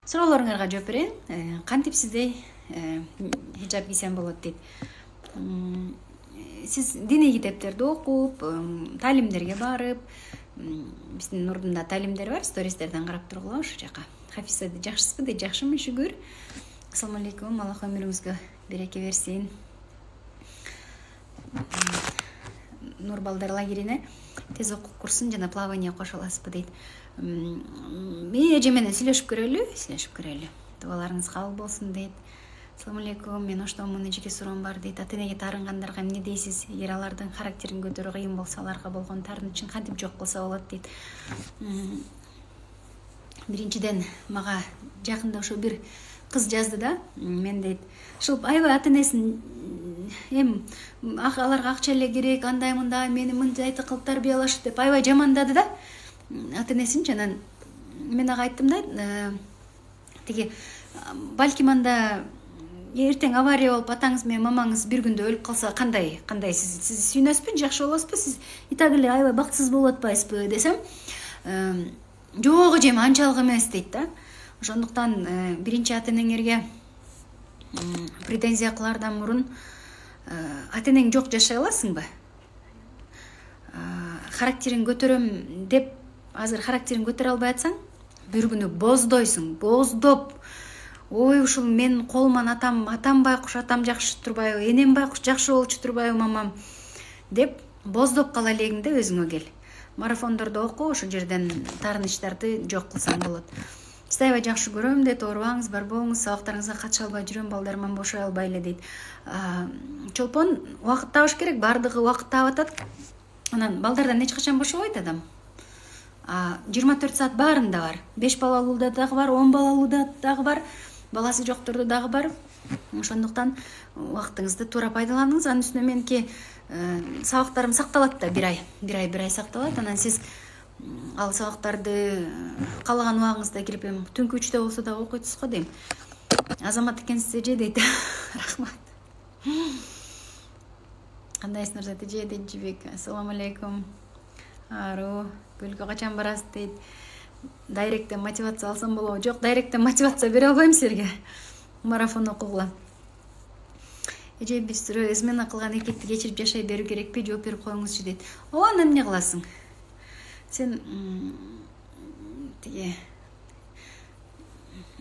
Суроолоруңарга жооп берейин. Кантип сизде хижаб кийсем болот дейт. Сиз диний китептерди окуп, таалимдерге барып, биздин Нурдунда таалимдер бар, стористерден карап тургула ошол жака. Хафиза жакшысызбы дейт. Жакшымын, шүгүр. Ассаламу алейкум. Аллах өмүрүңүзгө береке берсин. Нур балдар лагерине тез окуу курсун жана плавание кошо аласызбы дейт. Мен эже менен сүйлөшүп көрөлү. Дубаларыңыз кабыл болсун дейт. Ассаламу алейкум. Мен оштомун, жеке суроом бар дейт. Ата-энеге таарынгандарга эмне дейсиз? Эгер алардын характерин көтөрүү кыйын болсо, аларга болгон таарынычын кантип жок кылса болот дейт. Биринчиден мага жакында ошо бир кыз жазды да. Мен дейт, ушул аябай ата-энесин аларга акча эле керек, андай мындай, мени мындайты кылып тарбиялашты деп аябай жамандады да. Ата-энесин жанан мен ага айттым да, тиги балким анда эртең авария болуп атаңыз менен мамаңыз бир күндө өлүп калса кандай сиз сүйүнөсүзбү, жакшы болосузбу, сиз и так эле аябай бактысыз болуп атпайсызбы десем, жок эжем анчалык эмес дейт да. Ошондуктан биринчи ата-энеңерге претензия кылаардан мурун ата-энең жок жашай аласыңбы? Характерин көтөрөм деп азыр характерин көтөрө албай атсаң, бир күнү боздойсуң, боздоп. Ой, ушул мен колуман атам байкуш, атам жакшы турбайбы, энем байкуш жакшы болчу турбайбы мамам деп боздоп кала элегиңде өзүңө кел. Марафондордо оку, ошол жерден таарынычтарды жок кылсаң болот. Сизди аябай жакшы көрөм дейт, оорубаңыз, бар болуңуз, сабактарыңызга катыша албай жүрөм, балдарыман бошой албай эле дейт. Чолпон убакыт табыш керек, бардыгы убакыт таап атат. Анан балдардан эч качан бошобойт адам. 24 саат баарында бар. 5 балалууда дагы бар, 10 балалууда дагы бар, баласы жоктордо дагы бар. Ошондуктан убактыңызды туура пайдаланыңыз. Анын үстүнө меники сабактарым сакталат да, бир ай сакталат. Анан сиз ал сабактарды каалаган убагыңызда кирип, түнкү 3-тө болсо да окуйсуз го дейм. Азамат экенсиз эже дейт. Рахмат. Кандайсыңар эже дейт Жибек. Ассаламу алейкум. Ару, көлгө качан барасыз дейт. Дайректтен мотивация алсам болобу? Жок, дайректтен мотивация бере албайм силерге. Марафон окугула. Эже биз измена кылган эркекти кечирип жашай берүү керекпи? Жооп берип коюңузчу дейт. Ооба, анда эмне кыласың? Сен тиги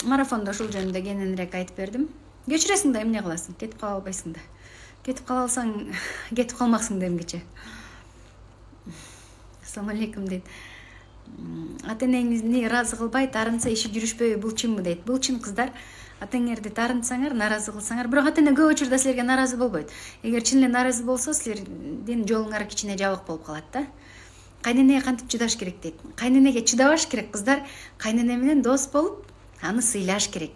марафондо ушул жөнүндө кененирээк айтып бердим. Кечиресиң да эмне кыласың? Кетип кала албайсың да. Кетип кала алсаң, кетип калмаксың да эмгиче. Ассаламу алейкум дейт. Ата-энеңизди ыраазы кылбай таарынса иши жүрүшпөйбү, бул чынбы дейт. Бул чын, кыздар. Ата-энеңерди таарынсаңар, нааразы кылсаңар, бирок ата-эне көп учурда силерге нааразы болбойт. Эгер чын эле нааразы болсо, силердин жолуңар кичине жабык болуп калат да. Кайненеге кантип чыдаш керек дейт. Кайненеге чыдабаш керек, кыздар. Кайнене менен дос болуп, аны сыйлаш керек.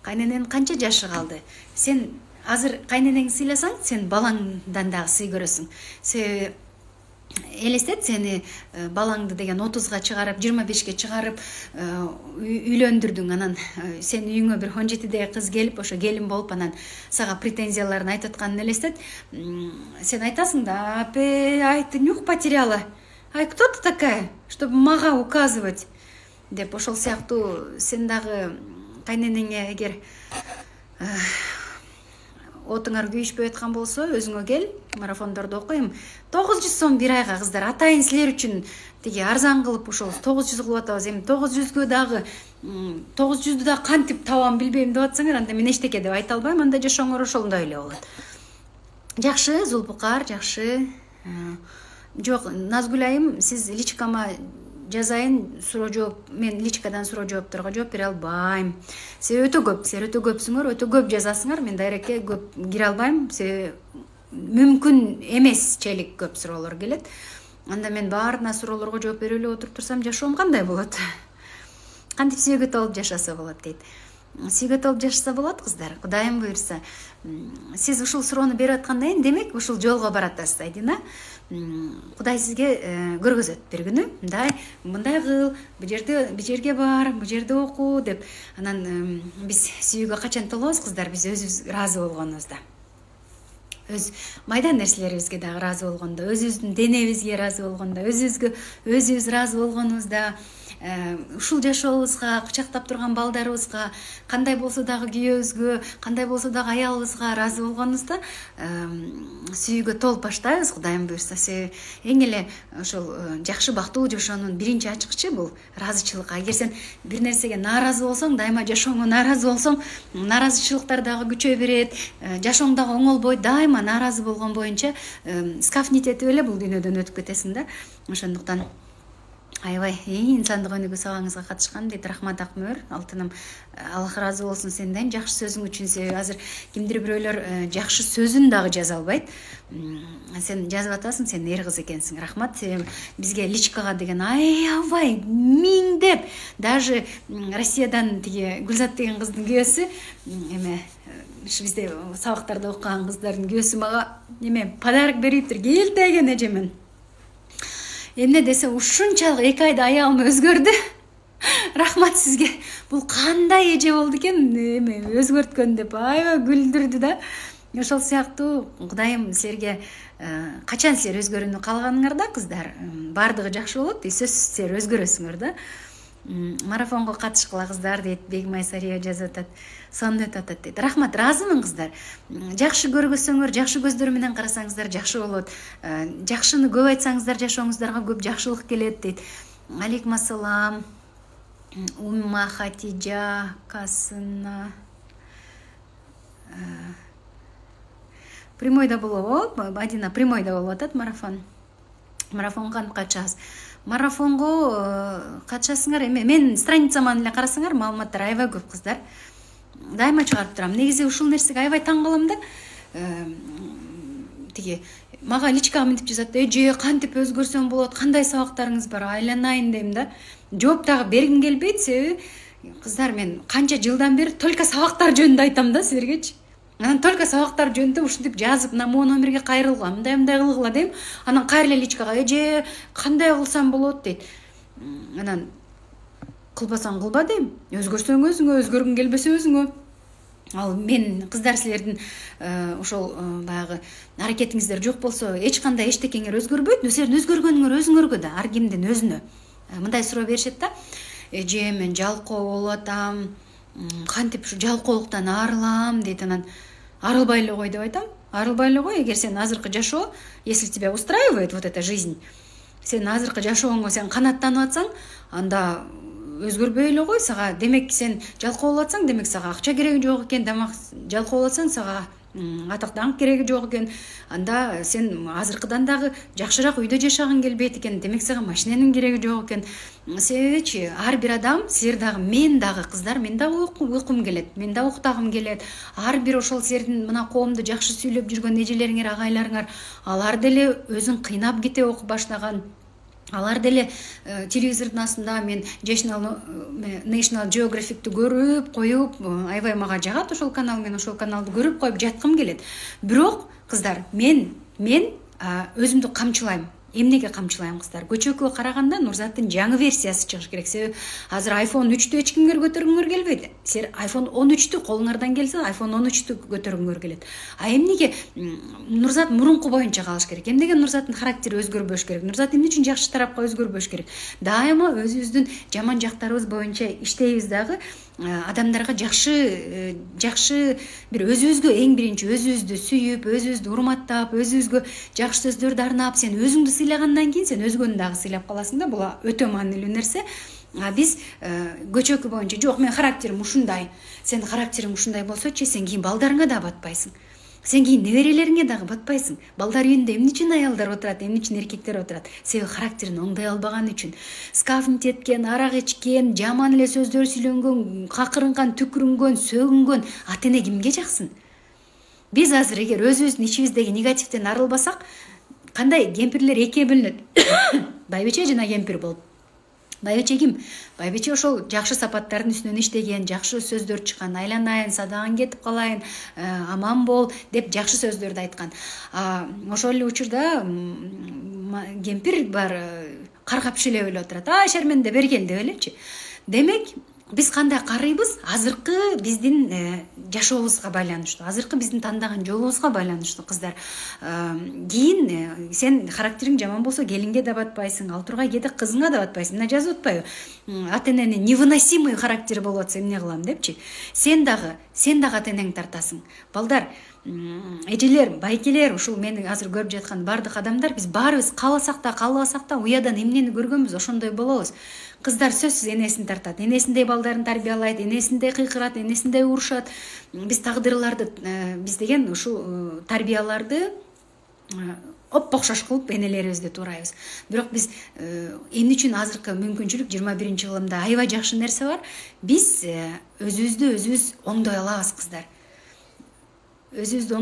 Кайнененин канча жашы калды? Сен азыр кайненеңди сыйласаң, сен балаңдан дагы сый көрөсүң. Элестет, сени балаңды деген 30-га чыгарып, 25-ке чыгарып үйлөндүрдүң, анан сен үйүңө бир 17-деги кыз келип, ошо келин болуп, анан сага претензияларын айтып атканын элестет. Сен айтасың да, апе, айты нюх потеряла. Ай, кто ты такая, чтобы мага указывать? Деп ошол сыяктуу сен дагы кайненеңе эгер отуңар күйүшпөй аткан болсо, өзүңө кел, марафондорду окуйм. 900 сом бир айга, кыздар. Атайын силер үчүн тиги арзан кылып ушул 900 кылып атабыз. Эми 900гө дагы 900дү да кантип табам билбейм деп атсаңар, анда мен эчтеке деп айта албайм. Анда жашооңор ошондой эле болот. Жакшы, Зулпукар, жакшы. Жок, Назгүл айым, сиз личкама жазайын, суроо жооп, мен личкадан суроо жоопторго жооп бере албайм. Силер өтө көпсүңөр, өтө көп жазасыңар, мен дайрекке көп кире албайм. Мүмкүн эмесчелик көп суроолор келет. Анда мен баарына суроолорго жооп бере эле отуруп турсам, жашоом кандай болот? Кантип сүйгөт алып жашаса болот дейт. Сүйгөт алып жашаса болот, кыздар. Кудайым буйрса. Сиз ушул суроону берип аткандан кийин, демек ушул жолго баратасыз, Айдина. Кудай сизге көргөзөт бир күнү. Мындай кыл, бу жерге бар, бу жерде оку деп. Анан биз сүйүүгө качан толобуз, кыздар? Биз өзүбүз ыраазы болгонубузда. өз майда нерселерибизге дагы ыраазы болгондо, өзүбүздүн денебизге ыраазы болгондо, өзүбүз ыраазы болгонубузда, ушул жашообузга, кучактап турган балдарыбызга, кандай болсо дагы күйөөбүзгө, кандай болсо дагы аялыбызга ыраазы болгонубузда сүйүүгө толуп баштайбыз, Кудайым буюрса. Эң эле ошол жакшы бактылуу жашоонун биринчи ачкычы бул ыраазычылык. Эгер сен бир нерсеге нааразы болсоң, дайыма жашооңо нааразы болсоң, нааразычылыктар дагы күчөй берет, жашооң дагы оңолбойт. Дайыма нааразы болгон боюнча скафнит этип эле бул дүйнөдөн өтүп кетесиң да. Ошондуктан аябай инсандык өнүгүү сабагыңызга катышкан дейт. Рахмат Акмөр, алтыным. Аллах ыраазы болсун сенден жакшы сөзүң үчүн. Себеби азыр кимдир бирөөлөр жакшы сөзүн дагы жаза албайт. Сен жазып атасың, сен эр кыз экенсиң. Рахмат. Себеби бизге личкага деген аябай миңдеп, даже Россиядан тиги Гүлзат деген кыздын күйөөсү, ушу бизде сабактарда окуган кыздардын күйөөсү мага подарок бериптир. Келтеген эжемен. Эмне десе, ушунчалык 2 айда аялым өзгөрдү. Рахмат сизге. Бул кандай эже болду экен, өзгөрткөн деп аябай күлдүрдү да. Ошол сыяктуу Кудайым силерге качан силер өзгөрүүнү каалаганыңарда, кыздар, баардыгы жакшы болот. Сөзсүз силер өзгөрөсүңөр да. Марафонго катышкыла кыздар дейт. Бегмай Сария жазып атат. Сонун өтүп атат дейт. Рахмат, ыраазымын кыздар. Жакшы көргөсөңөр, жакшы көздөр менен карасаңыздар жакшы болот. Жакшыны көп айтсаңыздар жашооңуздарга көп жакшылык келет дейт. Алейкум ассалам. Умма Хатижа Касына. Прямойда болобу? Мадина прямойда болуп атат марафон. Марафонго катышасыз. Марафонго катышасыңар. Мен страницаман эле карасаңар, маалыматтар аябай көп кыздар. Дайыма чыгарып турам. Негизи ушул нерсеге аябай таң калам да. Тиги мага личкага мынтип жазат. Эже, кантип өзгөрсөм болот? Кандай сабактарыңыз бар? Айланайын дейм да. Жооп дагы бергим келбейт. Себеби кыздар, мен канча жылдан бери только сабактар жөнүндө айтам да силергечи. Анан только сабактар жөнүндө ушинтип жазып, могу номерге кайрылгыла, мындай кылгыла дейм. Анан кайра эле личкага, эже, кандай кылсам болот дейт. Анан кылбасаң кылба дейм. Өзгөрсөң өзүңө, өзгөргүң келбесе өзүңө. Ал мен кыздар силердин ошол баягы аракетиңиздер жок болсо, эч кандай эчтекеңер өзгөрбөйт. Силердин өзгөргөнүңөр өзүңөргө да, ар кимдин өзүнө. Мындай суроо беришет да. Эже, мен жалкоо болуп атам. Кантип ушу жалкоолуктан арылам дейт. Анан арылбай эле кой деп айтам. Арылбай эле кой. Эгер сен азыркы жашоо, если тебя устраивает вот эта жизнь, сен азыркы жашооңо сен канаттанып атсаң, анда өзгөрбөй эле кой. Сага демек сен жалкоо болуп атсаң, демек сага акча кереги жок экен. Жалкоо болуп атсаң, сага атак даңк кереги жок экен. Анда сен азыркыдан дагы жакшыраак үйдө жашагың келбейт экен. Демек сага машиненин кереги жок экен. Себебичи ар бир адам, силер дагы, мен дагы кыздар, мен дагы уйкум келет, мен дагы уктагым келет. Ар бир ошол силердин мына коомдо жакшы сүйлөп жүргөн эжелериңер, агайларыңар, алар деле өзүн кыйнап кете окуп баштаган. Алар деле телевизордун астында мен National Geographic'ти көрүп коюп, аябай мага жагат ошол канал, мен ошол каналды көрүп коюп жаткым келет. Бирок кыздар, мен өзүмдү камчылайм. Эмнеге камчылайм кыздар? Көчөккө караганда Нурзаттын жаңы версиясы чыгыш керек. Себеби азыр iPhone 3тү эч кимге көтөргүңөр келбейт. Силер iPhone 13тү колуңардан келсе, iPhone 13тү көтөргүңөр келет. Эмнеге Нурзат мурунку боюнча калыш керек? Эмнеге Нурзаттын характери өзгөрбөш керек? Нурзат эмне үчүн жакшы тарапка өзгөрбөш керек? Дайыма өзүбүздүн жаман жактарыбыз боюнча иштейбиз дагы. Адамдарга жакшы бир өзүбүзгө эң биринчи өзүбүздү сүйүп, өзүбүздү урматтап, өзүбүзгө жакшы сөздөрдү арнап, сен өзүңдү сыйлагандан кийин сен өзгөнү дагы сыйлап каласың да. Бул өтө маанилүү нерсе. Биз көчөкү боюнча жок, мен характерим ушундай. Сен характериң ушундай болсочу, сен кийин балдарыңа да батпайсың. Сен кийин неберелериңе дагы батпайсың. Балдар үйүндө эмне үчүн аялдар отурат, эмне үчүн эркектер отурат? Себеби характерин оңдой албаган үчүн. Скафнит эткен, арак ичкен, жаман эле сөздөр сүйлөнгөн, какырынган, түкүрүнгөн, сөгүнгөн ата эне кимге жаксын? Биз азыр эгер өзүбүздүн ичибиздеги негативден арылбасак, кандай кемпирлер экиге бөлүнөт. Байбиче жана кемпир болуп. Байбиче ким? Байбиче ошол жакшы сапаттардын үстүнөн иштеген, жакшы сөздөр чыккан, айланайын, садагың кетип калайын, аман бол деп жакшы сөздөрдү айткан. Ошол эле учурда кемпир бар каргап шүлөп эле отурат. Шерменде берген деп элечи. Демек, биз кандай карыйбыз азыркы биздин жашообузга байланыштуу, азыркы биздин тандаган жолубузга байланыштуу кыздар. Кийин сен характериң жаман болсо келинге да батпайсың, ал тургай кээде кызыңа да батпайсың. Мына жазып атпайбы? Ата эненин невыносимый характери болуп атса эмне кылам депчи. Сен дагы ата энеңди тартасың. Балдар, эжелер, байкелер, ушул мени азыр көрүп жаткан бардык адамдар, биз баарыбыз кааласак да каалабасак да уядан эмнени көргөнбүз, ошондой болобуз. Кыздар сөзсүз энесин тартат, энесиндей балдарын тарбиялайт, энесиндей кыйкырат, энесиндей урушат. Биз тагдырларды, биз деген ушул тарбияларды оппокшош кылып энелерибизди туурайбыз. Бирок биз эмне үчүн азыркы мүмкүнчүлүк 21-кылымда аябай жакшы нерсе бар. Биз өзүбүздү өзүбүз оңдой алабыз кыздар. Өзүбүздү